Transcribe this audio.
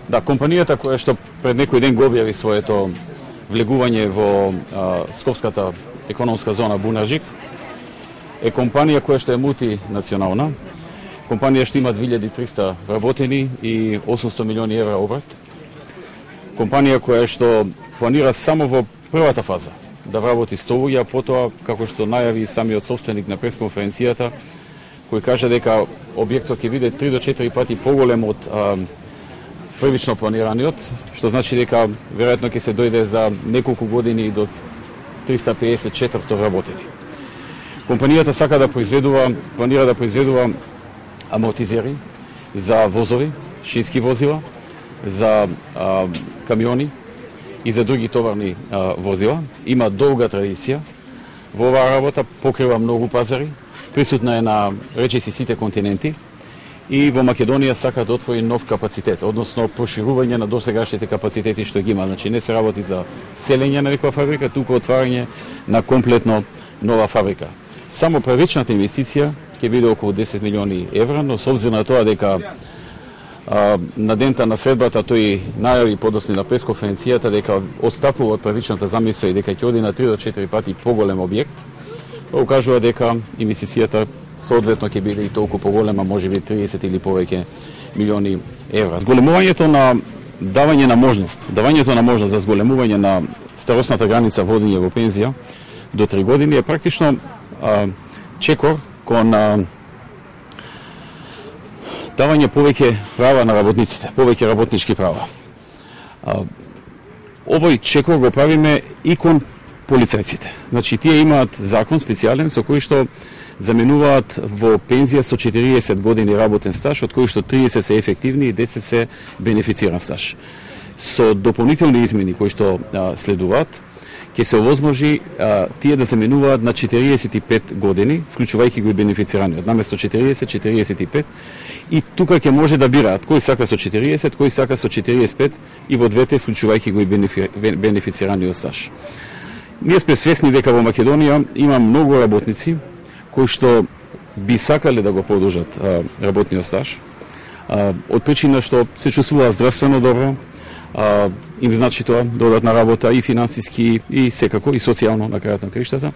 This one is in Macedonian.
Да, компанијата која што пред некој ден го објави своето влегување во Скопската економска зона Бунарџик е компанија која што е мултинационална, компанија што има 2300 вработени и 800 милиони евра обрт. Компанија која што планира само во првата фаза да вработи 100 луѓе, а потоа, како што најави самиот собственик на пресконференцијата, кој кажа дека објектот ќе биде 3 до 4 пати поголем од првично планираниот, што значи дека веројатно ќе се дојде за неколку години до 350-400 вработени. Компанијата сака да планира да произведува амортизери за возови, шински возила, за камиони и за други товарни возила. Има долга традиција во оваа работа, покрива многу пазари, присутна е на речиси сите континенти и во Македонија сака да отвори нов капацитет, односно проширување на досегашните капацитети што ги има. Значи не се работи за селење на некоја фабрика, туку отварање на комплетно нова фабрика. Само првичната инвестиција ќе биде околу 10 милиони евра, но со обзир на тоа дека на дента на средбата тој најави подоцна на пресконференцијата дека отстапува од првичната замисла и дека ќе оди на 3 до 4 пати поголем објект, укажува дека инвестицијата соодветно ќе биде и толку поголема, можеби 30 или повеќе милиони евра. Зголемувањето на давање на можност за зголемување на старосната граница водење во пензија до 3 години е практично чекор кон давање повеќе права на работниците, повеќе работнички права. Овој чекор го правиме и кон полицајците. Значи, тие имаат закон специјален со кој што заменуваат во пензија со 40 години работен стаж, од кои што 30 се ефективни и 10 се бенефициран стаж. Со дополнителни измени кои што следуваат, ќе се овозможи тие да заменуваат на 45 години, вклучувајќи го и бенефицираниот, наместо 40-45, и тука ќе може да бираат кој сака со 40, кој сака со 45 и во двете вклучувајќи го и бенефицираниот стаж. Ние сме свесни дека во Македонија има многу работници кои што би сакале да го продолжат работниот стаж, од причина што се чувствуваат здравствено добро, им значи тоа додатна работа и финансиски и секако и социјално на крајот на краиштата.